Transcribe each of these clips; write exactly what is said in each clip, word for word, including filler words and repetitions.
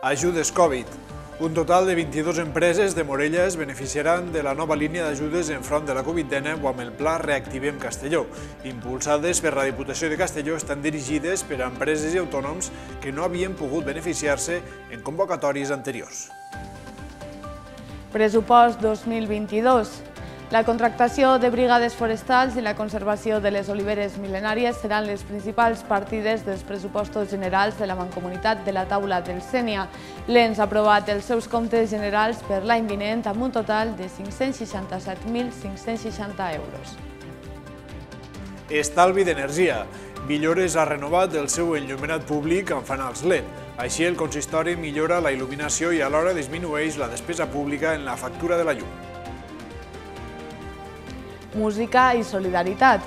Ajudes Covid. Un total de vint-i-dues empreses de Morella es beneficiaran de la nova línia d'ajudes enfront de la Covid dinou amb el Pla Reactivem Castelló. Impulsades per la Diputació de Castelló, estan dirigides per a empreses i autònoms que no havien pogut beneficiar-se en convocatòries anteriors. Pressupost dos mil vint-i-dos. La contractació de brigades forestals i la conservació de les oliveres mil·lenàries seran les principals partides dels pressupostos generals de la Mancomunitat de la Taula del Sénia. L'ens ha aprovat els seus comptes generals per l'any vinent amb un total de cinc-cents seixanta-set mil cinc-cents seixanta euros. Estalvi d'energia. Villores ha renovat el seu enllumenat públic amb fanals L E D. Així, el consistori millora la il·luminació i alhora disminueix la despesa pública en la factura de la llum. Música i solidaritat.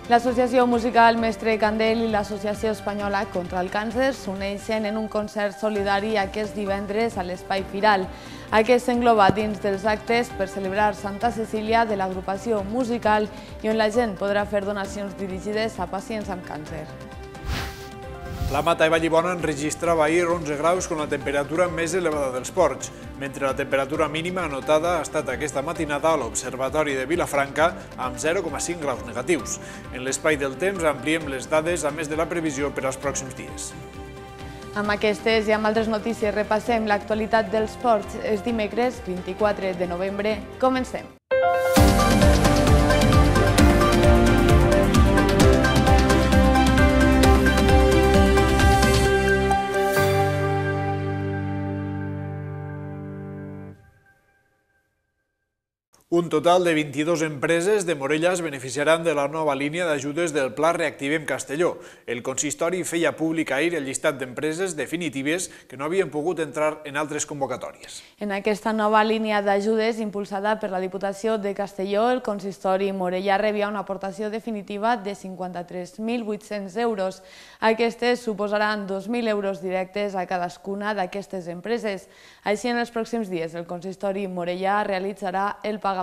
L'Associació Musical Mestre Candel i l'Associació Espanyola contra el Càncer s'uneixen en un concert solidari aquest divendres a l'Espai Firal. Aquest s'engloba dins dels actes per celebrar Santa Cecília de l'agrupació musical i on la gent podrà fer donacions dirigides a pacients amb càncer. La Mata de Vallibona enregistrava ahir onze graus amb la temperatura més elevada dels ports, mentre la temperatura mínima anotada ha estat aquesta matinada a l'Observatori de Vilafranca amb zero coma cinc graus negatius. En l'espai del temps ampliem les dades a més de la previsió per als pròxims dies. Amb aquestes i amb altres notícies repassem l'actualitat dels ports. És dimecres vint-i-quatre de novembre. Comencem. Un total de vint-i-dues empreses de Morella es beneficiaran de la nova línia d'ajudes del Pla Reactivem Castelló. El consistori feia públic ahir el llistat d'empreses definitives que no havien pogut entrar en altres convocatòries. En aquesta nova línia d'ajudes impulsada per la Diputació de Castelló, el consistori Morella rebia una aportació definitiva de cinquanta-tres mil vuit-cents euros. Aquestes suposaran dos mil euros directes a cadascuna d'aquestes empreses. Així, en els pròxims dies, el consistori Morella realitzarà el pagament.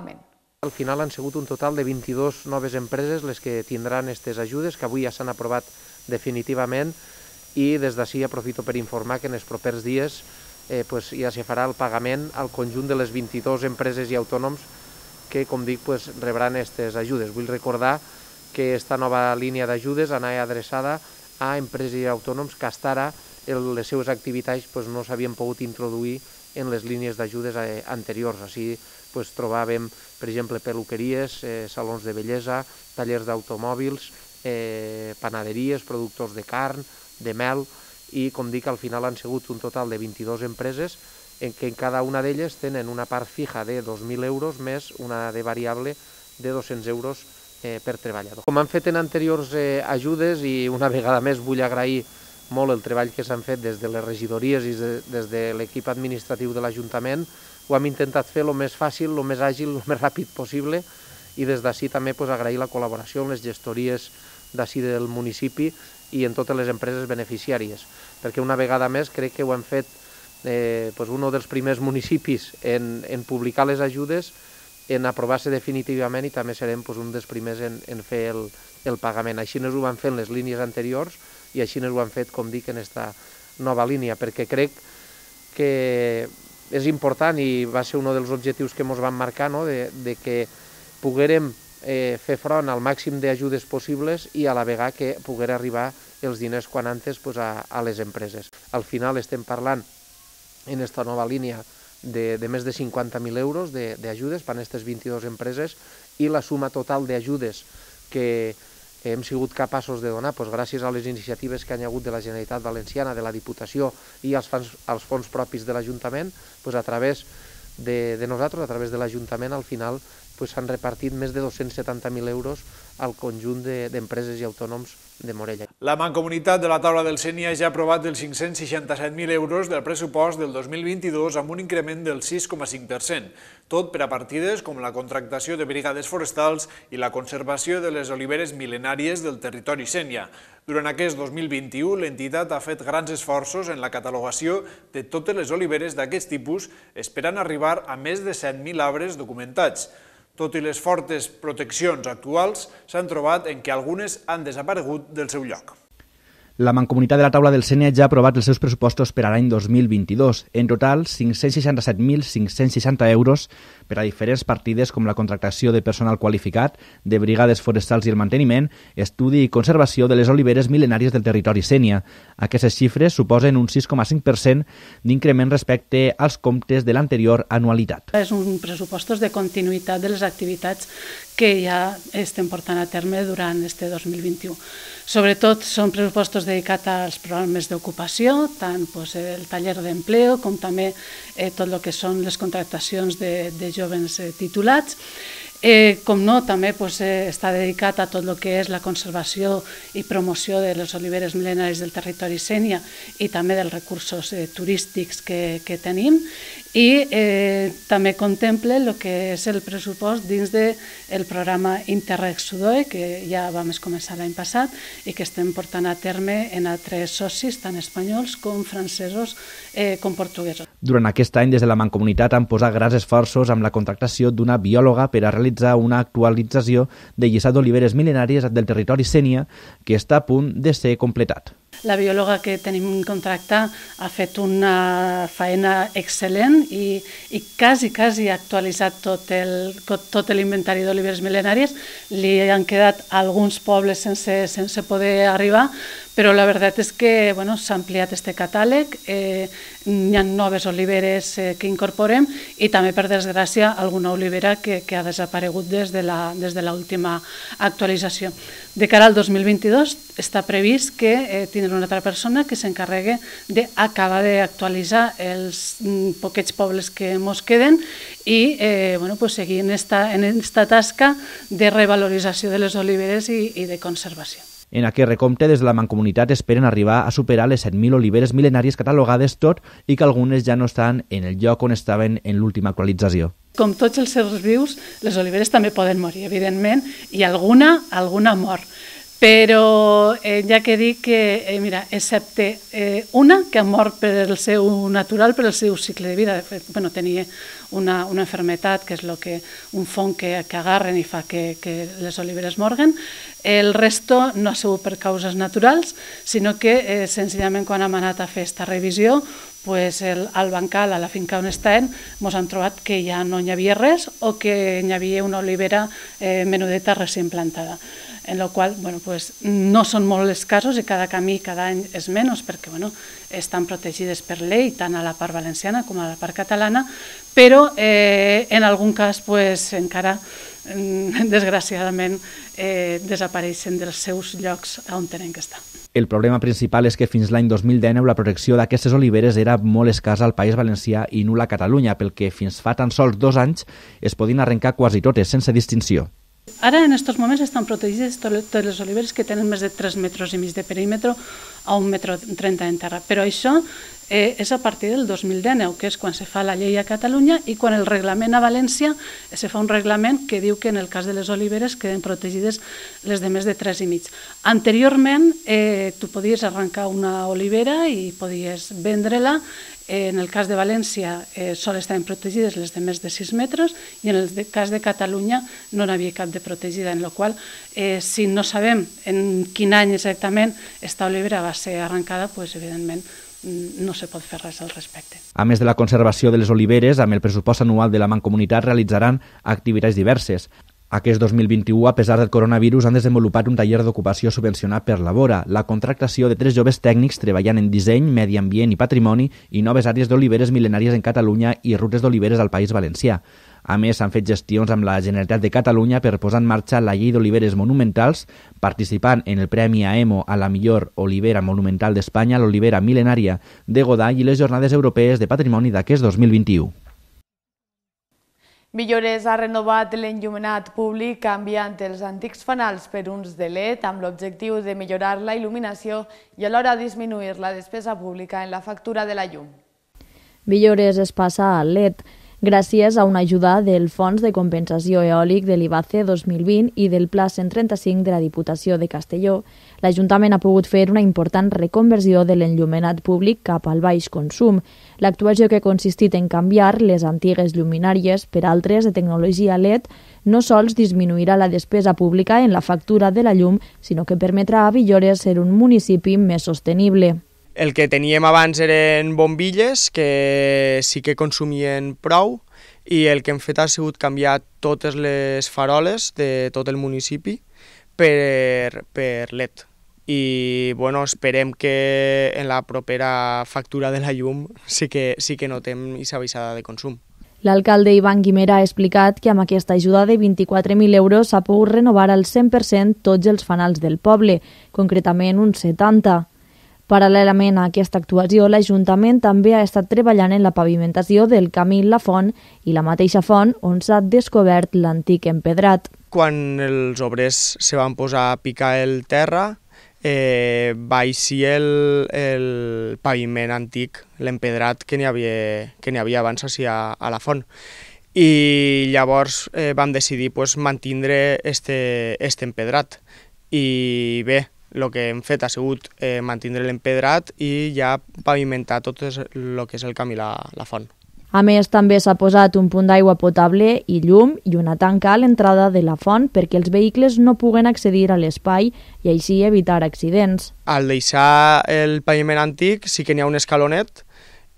Al final han sigut un total de vint-i-dues noves empreses les que tindran aquestes ajudes, que avui ja s'han aprovat definitivament, i des d'ací aprofito per informar que en els propers dies eh, pues, ja se farà el pagament al conjunt de les vint-i-dues empreses i autònoms que, com dic, pues, rebran aquestes ajudes. Vull recordar que aquesta nova línia d'ajudes anava adreçada a empreses i autònoms que fins ara les seves activitats pues, no s'havien pogut introduir en les línies d'ajudes anteriors. Així pues, trobàvem, per exemple, peluqueries, eh, salons de bellesa, tallers d'automòbils, eh, panaderies, productors de carn, de mel, i com dic, al final han sigut un total de vint-i-dues empreses en què en cada una d'elles tenen una part fija de dos mil euros més una de variable de dos-cents euros eh, per treballador. Com han fet en anteriors eh, ajudes, i una vegada més vull agrair molt el treball que s'han fet des de les regidories i des de l'equip administratiu de l'Ajuntament, ho hem intentat fer el més fàcil, el més àgil, el més ràpid possible, i des d'ací també pues, agrair la col·laboració amb les gestories d'ací del municipi i en totes les empreses beneficiàries, perquè una vegada més crec que ho hem fet eh, pues, un dels primers municipis en, en publicar les ajudes, en aprovar-se definitivament, i també serem pues, un dels primers en, en fer el, el pagament. Així no ho van fer en les línies anteriors i així no ho han fet, com dic, en aquesta nova línia, perquè crec que és important i va ser un dels objectius que ens vam marcar, no? de, de que poguérem eh, fer front al màxim d'ajudes possibles i a la vegada que pogués arribar els diners quan antes pues, a, a les empreses. Al final estem parlant en aquesta nova línia de, de més de cinquanta mil euros d'ajudes per a aquestes vint-i-dues empreses, i la suma total d'ajudes que hem sigut capaços de donar doncs, gràcies a les iniciatives que hi ha hagut de la Generalitat Valenciana, de la Diputació i als fons, als fons propis de l'Ajuntament, doncs, a través de, de nosaltres, a través de l'Ajuntament, al final s'han doncs, repartit més de dos-cents setanta mil euros al conjunt d'empreses i autònoms de Morella. La Mancomunitat de la Taula del Sénia ja ha aprovat els cinc-cents seixanta-set mil euros del pressupost del dos mil vint-i-dos amb un increment del sis coma cinc per cent, tot per a partides com la contractació de brigades forestals i la conservació de les oliveres mil·lenàries del territori sénia. Durant aquest dos mil vint-i-u, l'entitat ha fet grans esforços en la catalogació de totes les oliveres d'aquest tipus, esperant arribar a més de set mil arbres documentats. Tot i les fortes proteccions actuals, s'han trobat en què algunes han desaparegut del seu lloc. La Mancomunitat de la Taula del Sénia ja ha aprovat els seus pressupostos per a l'any dos mil vint-i-dos. En total, cinc-cents seixanta-set mil cinc-cents seixanta euros per a diferents partides com la contractació de personal qualificat, de brigades forestals i el manteniment, estudi i conservació de les oliveres mil·lenàries del territori Sénia. Aquestes xifres suposen un sis coma cinc per cent d'increment respecte als comptes de l'anterior anualitat. És un pressupostos de continuïtat de les activitats que ja estem portant a terme durant este dos mil vint-i-u. Sobretot són pressupostos dedicats als programes d'ocupació, tant pues, el taller d'empleo com també eh, tot el que són les contractacions de, de joves eh, titulats. Eh, com no, també pues, eh, està dedicat a tot el que és la conservació i promoció de les oliveres mil·lenàries del territori Sénia i també dels recursos eh, turístics que, que tenim, i eh, també contempla el que és el pressupost dins del programa Interreg Sudoe, que ja vam començar l'any passat i que estem portant a terme en altres socis, tant espanyols com francesos eh, com portuguesos. Durant aquest any, des de la Mancomunitat han posat grans esforços amb la contractació d'una biòloga per a realitzar una actualització del llistat d'oliveres mil·lenàries del territori Sénia, que està a punt de ser completat. La biòloga que tenim contractada ha fet una feina excel·lent i, i quasi, quasi ha actualitzat tot el, tot l'inventari d'oliveres mil·lenàries. Li han quedat alguns pobles sense, sense poder arribar, però la veritat és que bueno, s'ha ampliat aquest catàleg, eh, hi ha noves oliveres eh, que incorporem i també, per desgràcia, alguna olivera que, que ha desaparegut des de la, des de l'última actualització. De cara al dos mil vint-i-dos està previst que eh, tindrà una altra persona que s'encarregui d'acabar d'actualitzar els mm, poquets pobles que ens queden i eh, bueno, pues seguir en esta, en esta tasca de revalorització de les oliveres i, i de conservació. En aquest recompte, des de la Mancomunitat esperen arribar a superar les set mil oliveres mil·lenàries catalogades, tot i que algunes ja no estan en el lloc on estaven en l'última actualització. Com tots els seres vius, les oliveres també poden morir, evidentment, i alguna, alguna mor. Però eh, ja que dic que, eh, mira, excepte eh, una que ha mort per el seu natural, per el seu cicle de vida, de fet, bueno, tenia una, una enfermetat, que és lo que, un fong que, que agarren i fa que, que les oliveres morguen. El resto no ha sigut per causes naturals, sinó que eh, senzillament quan hem anat a fer aquesta revisió, pues el, al bancal, a la finca on estem, ens han trobat que ja no hi havia res o que hi havia una olivera eh, menudeta recient plantada. En la qual bueno, pues, no són molts els casos i cada camí cada any és menys perquè bueno, estan protegides per llei tant a la part valenciana com a la part catalana, però eh, en algun cas pues, encara desgraciadament eh, desapareixen dels seus llocs on tenen que estar. El problema principal és que fins l'any dos mil dinou la protecció d'aquestes oliveres era molt escassa al País Valencià i nul·la a Catalunya, pel que fins fa tan sols dos anys es podien arrencar quasi totes, sense distinció. Ara, en aquests moments, estan protegides totes les oliveres que tenen més de tres metres i mig de perímetre a un metre trenta en terra. Però això eh, és a partir del dos mil dinou, que és quan se fa la llei a Catalunya i quan el reglament a València se fa un reglament que diu que en el cas de les oliveres queden protegides les de més de tres i mig. Anteriorment, eh, tu podies arrencar una olivera i podies vendre-la. En el cas de València eh, sol estaven protegides les de més de sis metres i en el cas de Catalunya no n'hi havia cap de protegida, en la qual eh, si no sabem en quin any exactament esta olivera va ser arrencada, pues, evidentment no se pot fer res al respecte. A més de la conservació de les oliveres, amb el pressupost anual de la Mancomunitat realitzaran activitats diverses. Aquest dos mil vint-i-u, a pesar del coronavirus, han desenvolupat un taller d'ocupació subvencionat per Labora, la contractació de tres joves tècnics treballant en disseny, medi ambient i patrimoni i noves àrees d'oliveres mil·lenàries en Catalunya i rutes d'oliveres al País Valencià. A més, s'han fet gestions amb la Generalitat de Catalunya per posar en marxa la llei d'oliveres monumentals, participant en el Premi A E M O a la millor olivera monumental d'Espanya, l'olivera mil·lenària de Godall i les Jornades Europees de Patrimoni d'aquest dos mil vint-i-u. Villores ha renovat l'enllumenat públic canviant els antics fanals per uns de L E D amb l'objectiu de millorar la il·luminació i alhora disminuir la despesa pública en la factura de la llum. Villores es passa a L E D. gràcies a una ajuda del Fons de Compensació Eòlic de l'I B A C E dos mil vint i del Pla cent trenta-cinc de la Diputació de Castelló, l'Ajuntament ha pogut fer una important reconversió de l'enllumenat públic cap al baix consum. L'actuació, que ha consistit en canviar les antigues lluminàries per altres de tecnologia L E D, no sols disminuirà la despesa pública en la factura de la llum, sinó que permetrà a Villores ser un municipi més sostenible. El que teníem abans eren bombilles, que sí que consumien prou, i el que hem fet ha sigut canviar totes les faroles de tot el municipi per, per L E D. I bueno, esperem que en la propera factura de la llum sí que, sí que notem aquesta baixada de consum. L'alcalde Ivan Guimera ha explicat que amb aquesta ajuda de vint-i-quatre mil euros s'ha pogut renovar al cent per cent tots els fanals del poble, concretament uns setanta. Paral·lelament a aquesta actuació, l'Ajuntament també ha estat treballant en la pavimentació del camí La Font i la mateixa font on s'ha descobert l'antic empedrat. Quan els obrers se van posar a picar el terra, eh, va eixir el, el paviment antic, l'empedrat que n'hi havia, que n'hi havia abans així a, a la font. I llavors eh, vam decidir pues, mantindre este, este empedrat. I bé, el que hem fet ha sigut eh, mantindre l'empedrat i ja pavimentar tot el que és el camí la, la font. A més, també s'ha posat un punt d'aigua potable i llum i una tanca a l'entrada de la font perquè els vehicles no puguen accedir a l'espai i així evitar accidents. Al deixar el paviment antic sí que n'hi ha un escalonet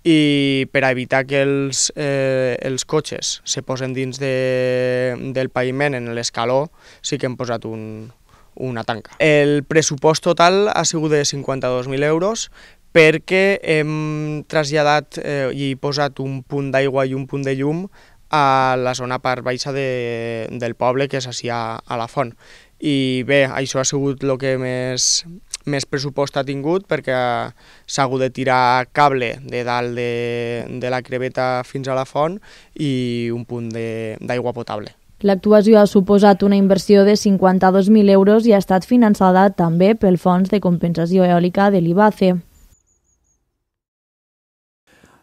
i per a evitar que els, eh, els cotxes se posen dins de, del paviment en l'escaló sí que hem posat un, una tanca. El pressupost total ha sigut de cinquanta-dos mil euros perquè hem traslladat eh, i posat un punt d'aigua i un punt de llum a la zona part baixa de, del poble, que és així a, a la font. I bé, això ha sigut el que més, més pressupost ha tingut perquè s'ha hagut de tirar cable de dalt de, de la creveta fins a la font i un punt d'aigua potable. L'actuació ha suposat una inversió de cinquanta-dos mil euros i ha estat finançada també pel Fons de Compensació Eòlica de l'I B A C E.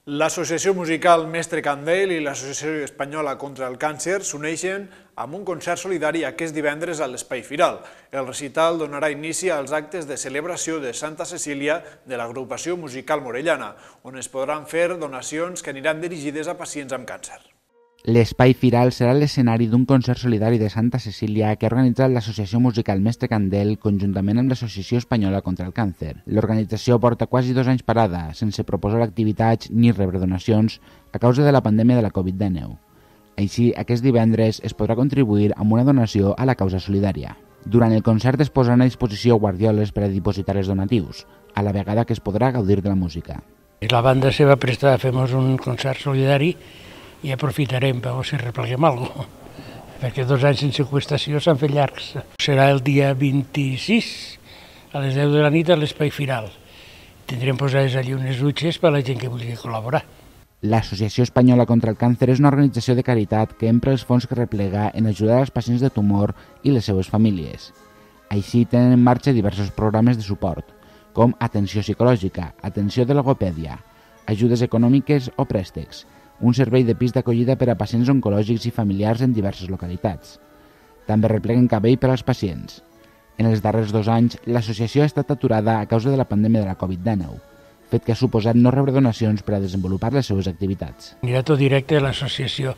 L'Associació Musical Mestre Candel i l'Associació Espanyola contra el Càncer s'uneixen amb un concert solidari aquest divendres a l'Espai Firal. El recital donarà inici als actes de celebració de Santa Cecília de l'agrupació musical morellana, on es podran fer donacions que aniran dirigides a pacients amb càncer. L'Espai Firal serà l'escenari d'un concert solidari de Santa Cecília que ha organitzat l'Associació Musical Mestre Candel conjuntament amb l'Associació Espanyola contra el Càncer. L'organització porta quasi dos anys parada, sense proposar activitats ni rebre donacions a causa de la pandèmia de la covid dinou. Així, aquest divendres es podrà contribuir amb una donació a la causa solidària. Durant el concert es posaran a disposició guardioles per a dipositar els donatius, a la vegada que es podrà gaudir de la música. La banda se va prestar a fer un concert solidari i aprofitarem per si repleguem alguna cosa, perquè dos anys sense qüestació s'han fet llargs. Serà el dia vint-i-sis, a les deu de la nit, a l'Espai Firal. Tindrem posades allí unes dutxes per a la gent que vulgui col·laborar. L'Associació Espanyola contra el Càncer és una organització de caritat que empra els fons que replega en ajudar als pacients de tumor i les seues famílies. Així tenen en marxa diversos programes de suport, com atenció psicològica, atenció de logopèdia, ajudes econòmiques o préstecs, un servei de pis d'acollida per a pacients oncològics i familiars en diverses localitats. També repleguen cabell per als pacients. En els darrers dos anys, l'associació ha estat aturada a causa de la pandèmia de la covid dinou, fet que ha suposat no rebre donacions per a desenvolupar les seves activitats. Anirà tot directe a l'associació,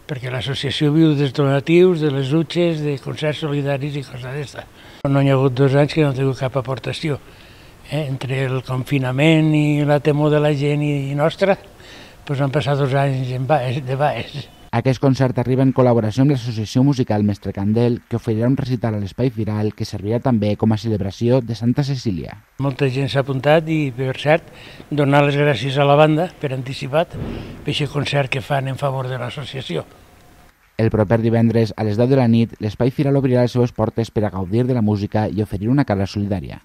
perquè l'associació viu dels donatius, de les dutxes, de concerts solidaris i coses d'aquesta. No hi ha hagut dos anys que no ha tingut cap aportació. Eh? Entre el confinament i la temor de la gent i nostra, doncs han passat dos anys de baix. Aquest concert arriba en col·laboració amb l'Associació Musical Mestre Candel, que oferirà un recital a l'Espai Firal que servirà també com a celebració de Santa Cecília. Molta gent s'ha apuntat i, per cert, donar les gràcies a la banda per anticipat per aquest concert que fan en favor de l'associació. El proper divendres, a les deu de la nit, l'Espai Firal obrirà les seves portes per a gaudir de la música i oferir una cara solidària.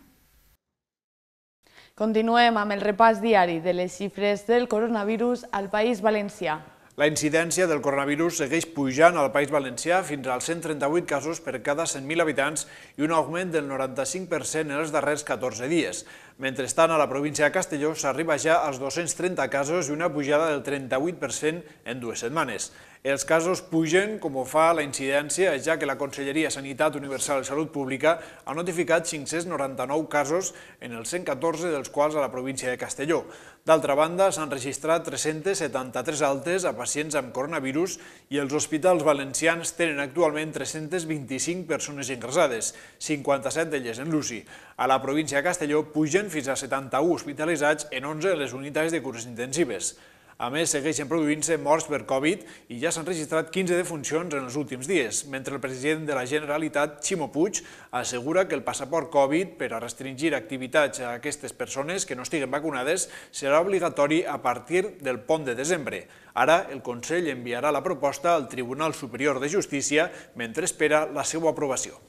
Continuem amb el repàs diari de les xifres del coronavirus al País Valencià. La incidència del coronavirus segueix pujant al País Valencià fins als cent trenta-vuit casos per cada cent mil habitants i un augment del noranta-cinc per cent en els darrers catorze dies. Mentrestant, a la província de Castelló s'arriba ja als dos-cents trenta casos i una pujada del trenta-vuit per cent en dues setmanes. Els casos pugen com ho fa la incidència, ja que la Conselleria de Sanitat Universal i Salut Pública ha notificat cinc-cents noranta-nou casos en els cent catorze dels quals a la província de Castelló. D'altra banda, s'han registrat tres-centes setanta-tres altes a pacients amb coronavirus i els hospitals valencians tenen actualment tres-centes vint-i-cinc persones ingressades, cinquanta-set d'elles en l'U C I. A la província de Castelló pugen fins a setanta-u hospitalitzats en onze de les unitats de cures intensives. A més, segueixen produint-se morts per Covid i ja s'han registrat quinze defuncions en els últims dies, mentre el president de la Generalitat, Ximo Puig, assegura que el passaport Covid per a restringir activitats a aquestes persones que no estiguen vacunades serà obligatori a partir del pont de desembre. Ara, el Consell enviarà la proposta al Tribunal Superior de Justícia mentre espera la seva aprovació.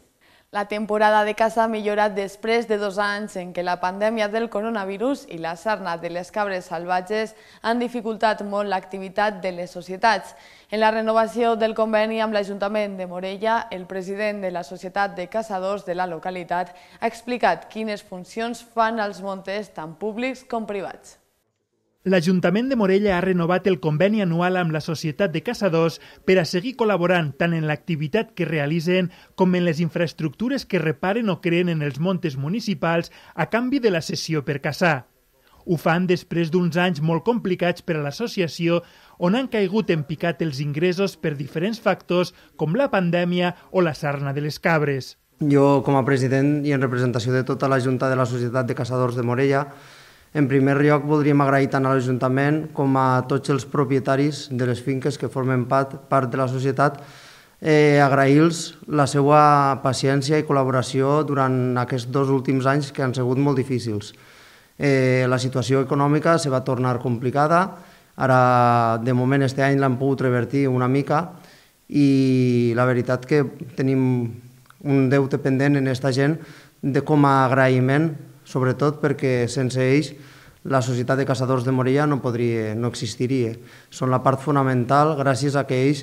La temporada de caça ha millorat després de dos anys en què la pandèmia del coronavirus i la sarna de les cabres salvatges han dificultat molt l'activitat de les societats. En la renovació del conveni amb l'Ajuntament de Morella, el president de la Societat de Caçadors de la localitat ha explicat quines funcions fan els montes tant públics com privats. L'Ajuntament de Morella ha renovat el conveni anual amb la Societat de Caçadors per a seguir col·laborant tant en l'activitat que realitzen com en les infraestructures que reparen o creen en els montes municipals a canvi de la cessió per caçar. Ho fan després d'uns anys molt complicats per a l'associació on han caigut en picat els ingressos per diferents factors com la pandèmia o la sarna de les cabres. Jo, com a president i en representació de tota la Junta de la Societat de Caçadors de Morella, en primer lloc, voldríem agrair tant a l'Ajuntament com a tots els propietaris de les finques que formen part, part de la societat, eh, agrair-los la seva paciència i col·laboració durant aquests dos últims anys que han sigut molt difícils. Eh, la situació econòmica se va tornar complicada, ara de moment este any l'han pogut revertir una mica i la veritat que tenim un deute pendent en aquesta gent de com a agraïment, sobretot perquè sense ells la Societat de Caçadors de Morella no podria, no existiria. Són la part fonamental gràcies a que ells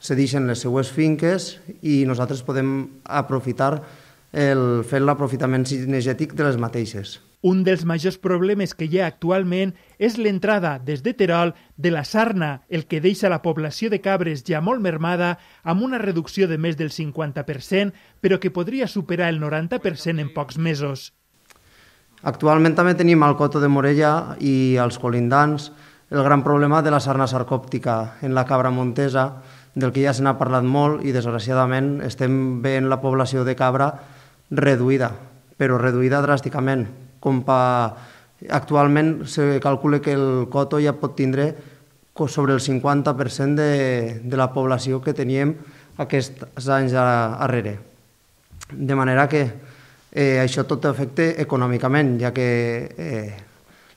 cedeixen les seues finques i nosaltres podem aprofitar el, fent l'aprofitament cinegètic de les mateixes. Un dels majors problemes que hi ha actualment és l'entrada des de Terol de la sarna, el que deixa la població de cabres ja molt mermada amb una reducció de més del cinquanta per cent, però que podria superar el noranta per cent en pocs mesos. Actualment també tenim al Coto de Morella i als colindants el gran problema de la sarna sarcòptica en la cabra montesa, del que ja se n'ha parlat molt i desgraciadament estem veient la població de cabra reduïda, però reduïda dràsticament. Com pa... Actualment se calcula que el Coto ja pot tindre sobre el cinquanta per cent de, de la població que teníem aquests anys darrere. De manera que Eh, això tot afecta econòmicament, ja que eh,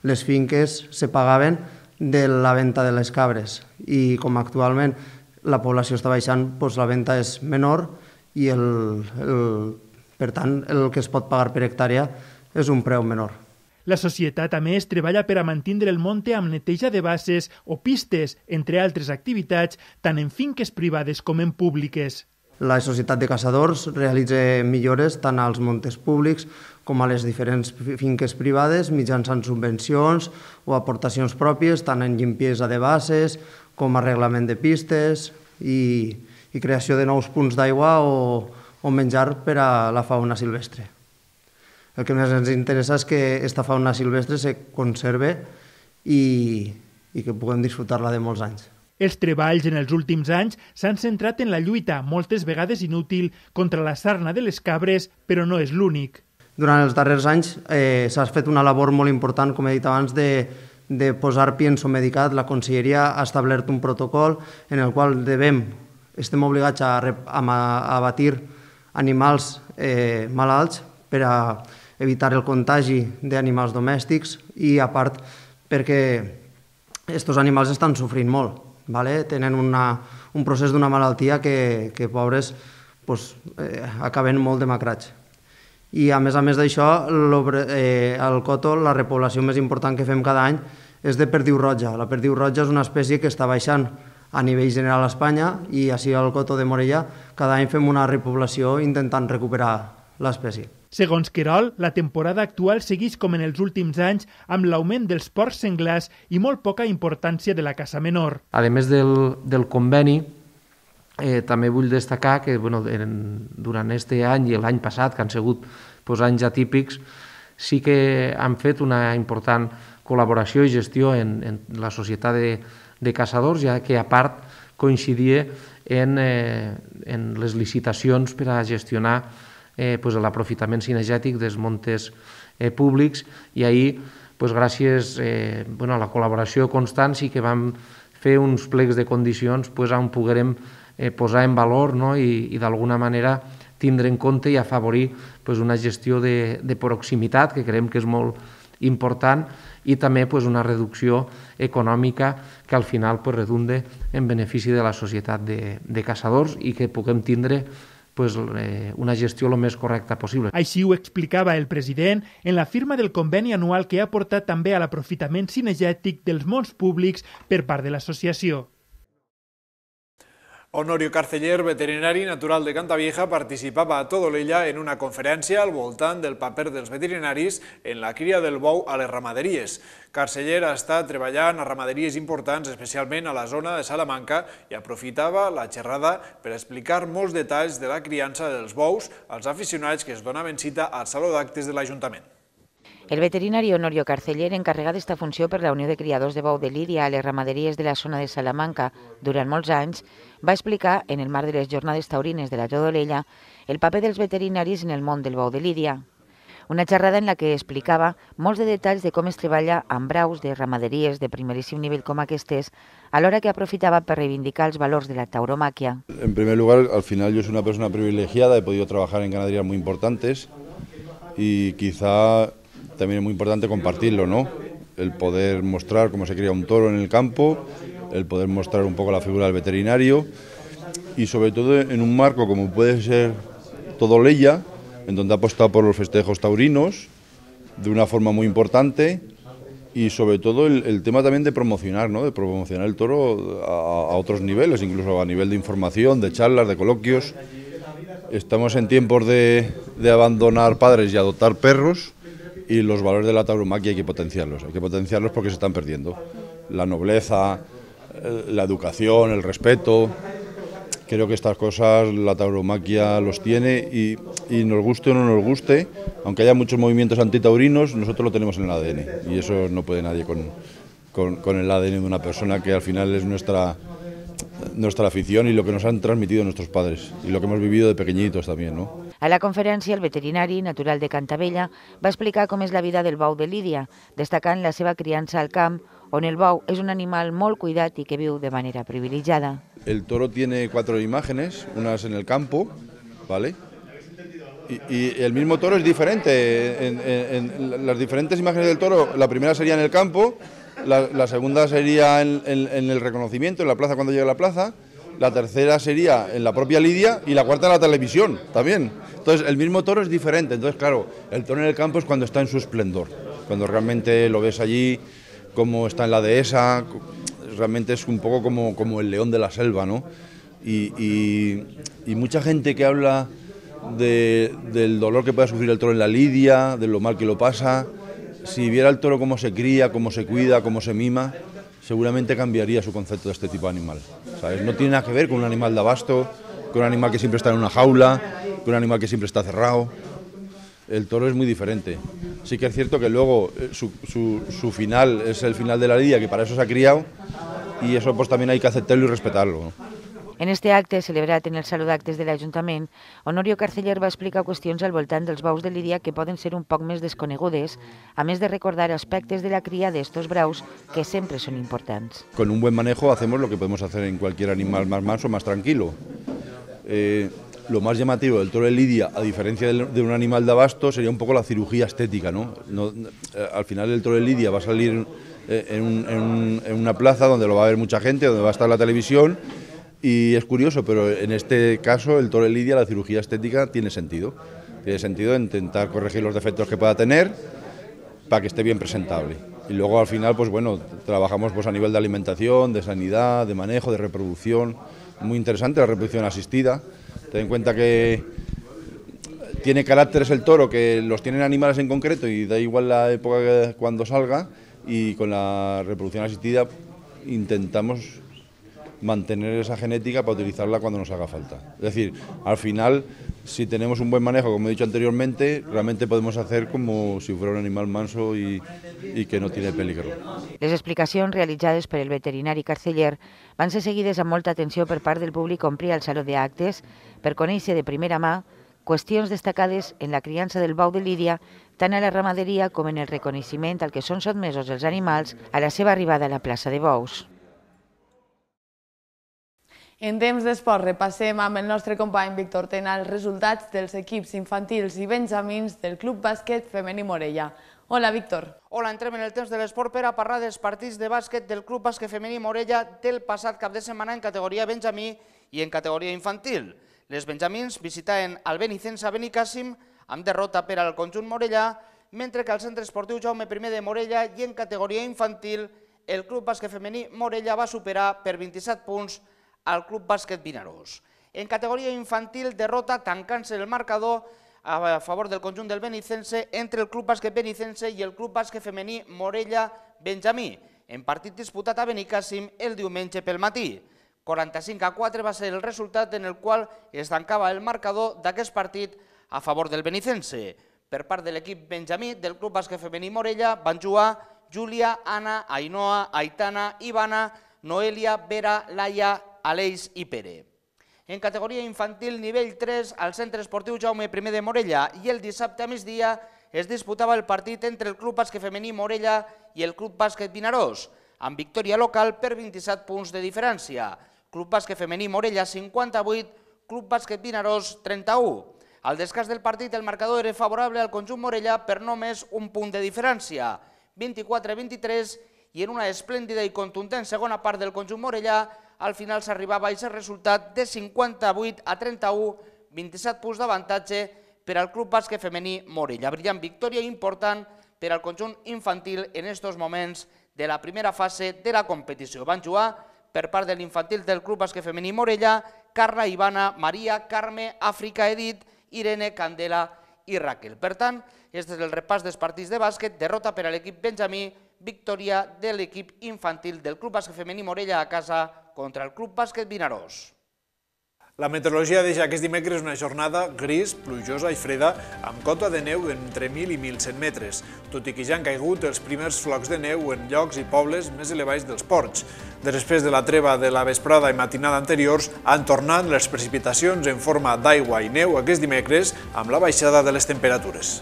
les finques se pagaven de la venda de les cabres i com actualment la població està baixant, doncs la venda és menor i el, el, per tant el que es pot pagar per hectàrea és un preu menor. La societat, a més, treballa per a mantindre el monte amb neteja de basses o pistes, entre altres activitats, tant en finques privades com en públiques. La Societat de Caçadors realitza millores tant als montes públics com a les diferents finques privades mitjançant subvencions o aportacions pròpies, tant en llimpiesa de basses com arreglament de pistes i, i creació de nous punts d'aigua o, o menjar per a la fauna silvestre. El que més ens interessa és que aquesta fauna silvestre se conserve i, i que puguem disfrutar-la de molts anys. Els treballs en els últims anys s'han centrat en la lluita, moltes vegades inútil, contra la sarna de les cabres, però no és l'únic. Durant els darrers anys eh, s'ha fet una labor molt important, com he dit abans, de, de posar pienso medicat. La Conselleria ha establert un protocol en el qual devem, estem obligats a, a, a abatir animals eh, malalts per a evitar el contagi d'animals domèstics i, a part, perquè aquests animals estan sofrint molt. Vale? Tenen una, un procés d'una malaltia que, que pobres, pues, eh, acaben molt demacrats. I a més a més d'això, eh, al Coto la repoblació més important que fem cada any és de perdiu roja. La perdiu roja és una espècie que està baixant a nivell general a Espanya i així al Coto de Morella cada any fem una repoblació intentant recuperar l'espècie. Segons Querol, la temporada actual segueix com en els últims anys amb l'augment dels porcs senglars i molt poca importància de la caça menor. A més del, del conveni, eh, també vull destacar que bueno, en, durant aquest any i l'any passat, que han sigut pues, anys atípics, sí que han fet una important col·laboració i gestió en, en la societat de, de caçadors, ja que a part coincidia en, eh, en les licitacions per a gestionar eh, pues, l'aprofitament cinegètic dels montes eh, públics, i ahir, pues, gràcies eh, bueno, a la col·laboració constant, sí que vam fer uns plecs de condicions pues, on poguérem eh, posar en valor, no? i, i d'alguna manera tindre en compte i afavorir pues, una gestió de, de proximitat, que creiem que és molt important, i també pues, una reducció econòmica que al final pues, redunde en benefici de la societat de, de caçadors i que puguem tindre pues, eh, una gestió el més correcta possible. Així ho explicava el president en la firma del conveni anual que ha portat també a l'aprofitament cinegètic dels mons públics per part de l'associació. Honorio Carceller, veterinari natural de Cantavieja, participava a Todolella en una conferència al voltant del paper dels veterinaris en la cria del bou a les ramaderies. Carceller ha estat treballant a ramaderies importants, especialment a la zona de Salamanca, i aprofitava la xerrada per explicar molts detalls de la criança dels bous als aficionats que es donaven cita al Saló d'Actes de l'Ajuntament. El veterinari Honorio Carceller, encarregat d'esta funció per la Unió de Criadors de Bou de Lídia a les ramaderies de la zona de Salamanca durant molts anys, va explicar, en el marc de les jornades taurines de la Todolella, el paper dels veterinaris en el món del bou de Lídia. Una xerrada en la que explicava molts de detalls de com es treballa amb braus de ramaderies de primeríssim nivell com aquestes, alhora que aprofitava per reivindicar els valors de la tauromaquia. En primer lugar, al final yo soy una persona privilegiada, he podido trabajar en ganaderías muy importantes y quizá también es muy importante compartirlo, ¿no? El poder mostrar cómo se cría un toro en el campo, el poder mostrar un poco la figura del veterinario y sobre todo en un marco como puede ser Todolella, en donde ha apostado por los festejos taurinos de una forma muy importante y sobre todo el, el tema también de promocionar, ¿no? De promocionar el toro a, a otros niveles, incluso a nivel de información, de charlas, de coloquios. Estamos en tiempos de, de abandonar padres y adoptar perros, y los valores de la tauromaquia hay que potenciarlos, hay que potenciarlos porque se están perdiendo. La nobleza, la educación, el respeto, creo que estas cosas la tauromaquia los tiene y, y nos guste o no nos guste, aunque haya muchos movimientos antitaurinos, nosotros lo tenemos en el A D N y eso no puede nadie con, con, con el A D N de una persona que al final es nuestra, nuestra afición y lo que nos han transmitido nuestros padres y lo que hemos vivido de pequeñitos también, ¿no? A la conferència, el veterinari natural de Cantavella va explicar com és la vida del bou de Lídia, destacant la seva criança al camp, on el bou és un animal molt cuidat i que viu de manera privilegiada. El toro tiene cuatro imágenes, unas en el campo, ¿vale? Y, y el mismo toro es diferente. En, en, en las diferentes imágenes del toro, la primera sería en el campo, la, la segunda sería en, en, en el reconocimiento, en la plaza cuando llega a la plaza, la tercera sería en la propia Lidia y la cuarta en la televisión también. Entonces el mismo toro es diferente, entonces claro, el toro en el campo es cuando está en su esplendor, cuando realmente lo ves allí, como está en la dehesa, realmente es un poco como, como el león de la selva, ¿no? Y, y, y mucha gente que habla de, del dolor que puede sufrir el toro en la lidia, de lo mal que lo pasa, si viera el toro cómo se cría, cómo se cuida, cómo se mima, seguramente cambiaría su concepto de este tipo de animal, ¿sabes? No tiene nada que ver con un animal de abasto, con un animal que siempre está en una jaula, con un animal que siempre está cerrado. El toro es muy diferente. Sí que es cierto que luego su, su, su final es el final de la lidia, que para eso se ha criado, y eso pues también hay que aceptarlo y respetarlo, ¿no? En este acte, celebrat en el Saló d'Actes de l'Ajuntament, Honorio Carceller va explicar qüestions al voltant dels bous de Lídia que poden ser un poc més desconegudes, a més de recordar aspectes de la cria d'estos braus que sempre són importants. Con un buen manejo hacemos lo que podemos hacer en cualquier animal más manso, más tranquilo. Eh, lo más llamativo del toro de Lidia, a diferencia de un animal de abasto, sería un poco la cirugía estética, ¿no? No, al final el toro de Lidia va a salir en, un, en, un, en una plaza donde lo va a ver mucha gente, donde va a estar la televisión, y es curioso, pero en este caso el toro de Lidia, la cirugía estética tiene sentido. Tiene sentido intentar corregir los defectos que pueda tener para que esté bien presentable. Y luego al final, pues bueno, trabajamos pues a nivel de alimentación, de sanidad, de manejo, de reproducción. Muy interesante la reproducción asistida. Ten en cuenta que tiene caracteres el toro que los tienen animales en concreto y da igual la época que, cuando salga, y con la reproducción asistida intentamos mantener esa genética para utilizarla cuando nos haga falta. Es decir, al final, si tenemos un buen manejo, como he dicho anteriormente, realmente podemos hacer como si fuera un animal manso y, i que no tiene peligro. Les explicacions realitzades per el veterinari Carceller van ser seguides amb molta atenció per part del públic que omplia el Saló d'Actes per conèixer de primera mà qüestions destacades en la criança del bou de Lídia, tant a la ramaderia com en el reconeixement al que són sotmesos els animals a la seva arribada a la plaça de bous. En temps d'esport repassem amb el nostre company Víctor Tena els resultats dels equips infantils i benjamins del Club Bàsquet Femení Morella. Hola, Víctor. Hola, entrem en el temps de l'esport per a parlar dels partits de bàsquet del Club Bàsquet Femení Morella del passat cap de setmana en categoria benjamí i en categoria infantil. Les benjamins visitaven el Benicense a Benicàssim amb derrota per al conjunt morellà, mentre que al Centre Esportiu Jaume primer de Morella i en categoria infantil el Club Bàsquet Femení Morella va superar per vint-i-set punts al Club Bàsquet Vinaròs. En categoria infantil, derrota tancant-se el marcador a favor del conjunt del Benicense entre el Club Bàsquet Benicense i el Club Bàsquet Femení Morella Benjamí, en partit disputat a Benicàssim el diumenge pel matí. quaranta-cinc a quatre va ser el resultat en el qual es tancava el marcador d'aquest partit a favor del Benicense. Per part de l'equip benjamí del Club Bàsquet Femení Morella van jugar Júlia, Anna, Ainhoa, Aitana, Ivana, Noelia, Vera, Laia, Aleix i Pere. En categoria infantil nivell tres, al Centre Esportiu Jaume primer de Morella i el dissabte a migdia es disputava el partit entre el Club Bàsquet Femení Morella i el Club Bàsquet Vinaròs, amb victòria local per vint-i-set punts de diferència. Club Bàsquet Femení Morella cinquanta-vuit, Club Bàsquet Vinaròs trenta-u. Al descans del partit el marcador era favorable al conjunt morellà per només un punt de diferència, vint-i-quatre a vint-i-tres, i en una esplèndida i contundent segona part del conjunt morellà, al final s'arribava a aquest resultat de cinquanta-vuit a trenta-u, vint-i-set punts d'avantatge per al Club Bàsquet Femení Morella. Brillant victòria important per al conjunt infantil en aquests moments de la primera fase de la competició. Van jugar per part de l'infantil del Club Bàsquet Femení Morella, Carla, Ivana, Maria, Carme, Àfrica, Edith, Irene, Candela i Raquel. Per tant, aquest és el repàs dels partits de bàsquet, derrota per a l'equip benjamí, victòria de l'equip infantil del Club Bàsquet Femení Morella a casa contra el Club Bàsquet Vinaròs. La meteorologia deixa aquest dimecres una jornada gris, plujosa i freda, amb cota de neu entre mil i mil cent metres, tot i que ja han caigut els primers flocs de neu en llocs i pobles més elevats dels ports. Després de la treva de la vesprada i matinada anteriors, han tornat les precipitacions en forma d'aigua i neu aquest dimecres amb la baixada de les temperatures.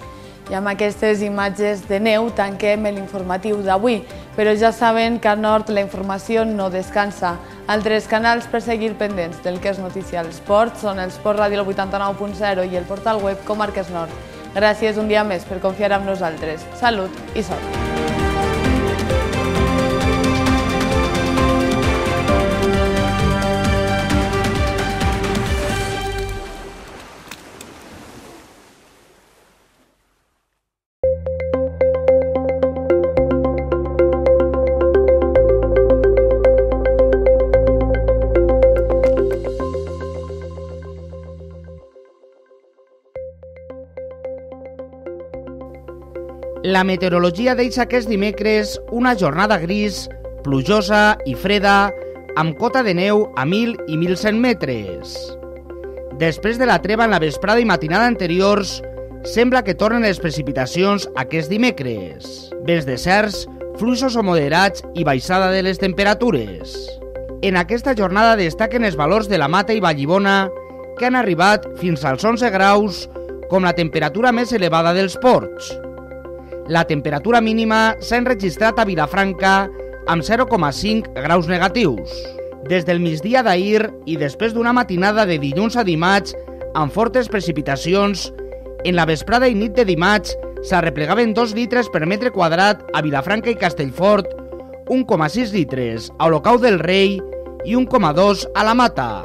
I amb aquestes imatges de neu tanquem l'informatiu d'avui, però ja saben que a Nord la informació no descansa. Altres canals per seguir pendents del que és notícia a l'esport són el Sport Ràdio vuitanta-nou punt zero i el portal web Comarques Nord. Gràcies un dia més per confiar en nosaltres. Salut i sort! La meteorologia deixa aquest dimecres una jornada gris, plujosa i freda, amb cota de neu a mil i mil cent metres. Després de la treva en la vesprada i matinada anteriors, sembla que tornen les precipitacions aquest dimecres. Vents deserts, fluixos o moderats i baixada de les temperatures. En aquesta jornada destaquen els valors de la Mata i Vallibona, que han arribat fins als onze graus, com la temperatura més elevada dels ports. La temperatura mínima s'ha enregistrat a Vilafranca amb zero coma cinc graus negatius. Des del migdia d'ahir i després d'una matinada de dilluns a dimarts amb fortes precipitacions, en la vesprada i nit de dimarts s'arreplegaven dos litres per metre quadrat a Vilafranca i Castellfort, un coma sis litres a Olocau del Rei i un coma dos a la Mata.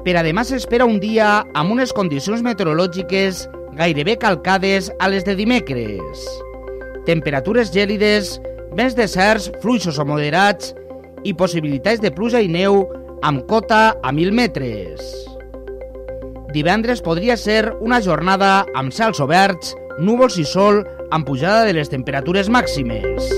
Per a demà s'espera un dia amb unes condicions meteorològiques gairebé calcades a les de dimecres. Temperatures gèlides, vents deserts, fluixos o moderats i possibilitats de pluja i neu amb cota a mil metres. divendres podria ser una jornada amb cels oberts, núvols i sol, amb pujada de les temperatures màximes.